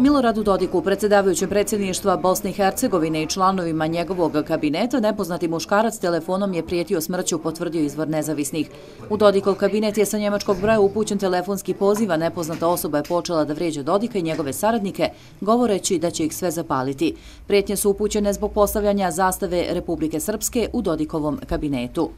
Miloradu Dodiku, predsjedavajućem predsjedništva Bosne i Hercegovine i članovima njegovog kabineta, nepoznati muškarac telefonom je prijetio smrću, potvrdio izvor Nezavisnih. U Dodikov kabinet je sa njemačkog broja upućen telefonski poziv, a nepoznata osoba je počela da vrijeđa Dodika i njegove saradnike, govoreći da će ih sve zapaliti. Prijetnje su upućene zbog postavljanja zastave Republike Srpske u Dodikovom kabinetu.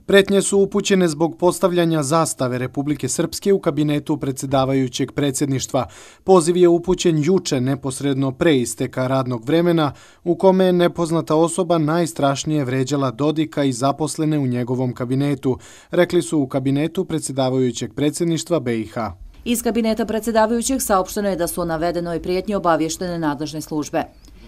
Pretnje su upućene zbog postavljanja zastave Republike Srpske u kabinetu predsjedavajućeg predsjedništva. Poziv je upućen juče, neposredno pre isteka radnog vremena, u kome je nepoznata osoba najstrašnije vređala Dodika i zaposlene u njegovom kabinetu, rekli su u kabinetu predsjedavajućeg predsjedništva BiH. Iz kabineta predsjedavajućeg saopšteno je da su o navedenoj prijetnji obavještene nadležne službe.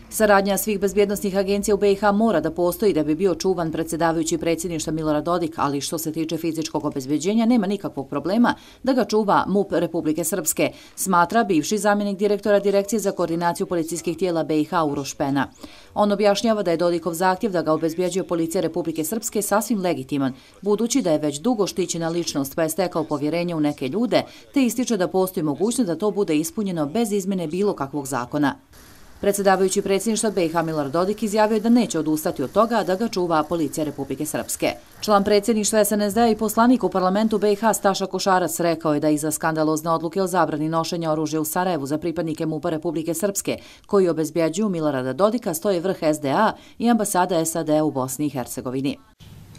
Saradnja svih bezbjednosnih agencija u BiH mora da postoji da bi bio čuvan predsjedavajući predsjedništva Milorad Dodik, ali što se tiče fizičkog obezbeđenja nema nikakvog problema da ga čuva MUP Republike Srpske, smatra bivši zamjenik direktora Direkcije za koordinaciju policijskih tijela BiH Uroš Pena. On objašnjava da je Dodikov zahtjev da ga obezbjeđuje policija Republike Srpske sasvim legitiman, budući da je već dugo štićena ličnost pa je stekao povjerenje u neke ljude, te ističe da postoji mogućnost da to bude ispunjeno bez izmjene bilo kakvog zakona. Predsjedavajući predsjedništva BiH Milorad Dodik izjavio je da neće odustati od toga da ga čuva policija Republike Srpske. Član predsjedništva SNSD i poslanik u parlamentu BiH Staša Košarac rekao je da iza skandalozne odluke o zabrani nošenja oružja u Sarajevu za pripadnike MUP-a Republike Srpske, koji obezbjeđuju Milorada Dodika, stoji vrh SDA i ambasada SAD u Bosni i Hercegovini.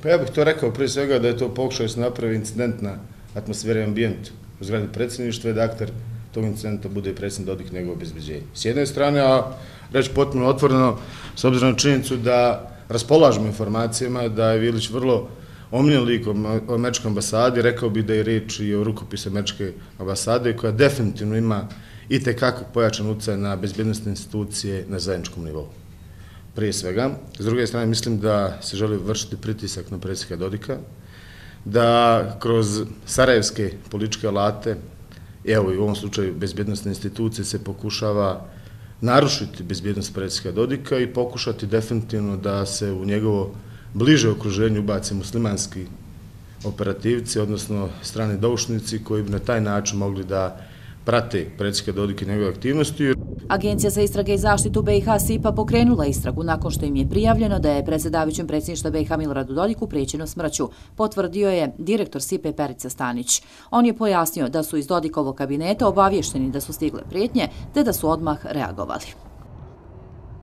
Pa ja bih to rekao prije svega da je to pokušao da se napravi incident na atmosferi i ambijentu u zgradi predsjedništva i da akter tog incidenta bude predsjednik Dodik nego obezbeđenje. S jedne strane, a reći potpuno otvoreno, s obzirom na činjenicu da raspolažemo informacijama da je Vilić vrlo omiljen lik u američkoj ambasadi, rekao bi da je riječ i o rukopisu američke ambasade koja definitivno ima i tekako pojačan utjecaj na bezbjednosne institucije na zajedničkom nivou. Prije svega, s druge strane mislim da se želi vršiti pritisak na predsjednika Dodika, da kroz sarajevske političke alate, evo i u ovom slučaju bezbjednostne institucije, se pokušava narušiti bezbjednost predsjednika Dodika i pokušati definitivno da se u njegovo bliže okruženje ubaci muslimanski operativci, odnosno strani doušnici koji bi na taj način mogli da prate predsjednika Dodika i njegove aktivnosti. Agencija za istrage i zaštitu BiH SIPA pokrenula istragu nakon što im je prijavljeno da je predsjedavajućem predsjedništva BiH Miloradu Dodiku prijećeno smrću, potvrdio je direktor SIPA Perica Stanić. On je pojasnio da su iz Dodikovog kabineta obavješteni da su stigle prijetnje te da su odmah reagovali.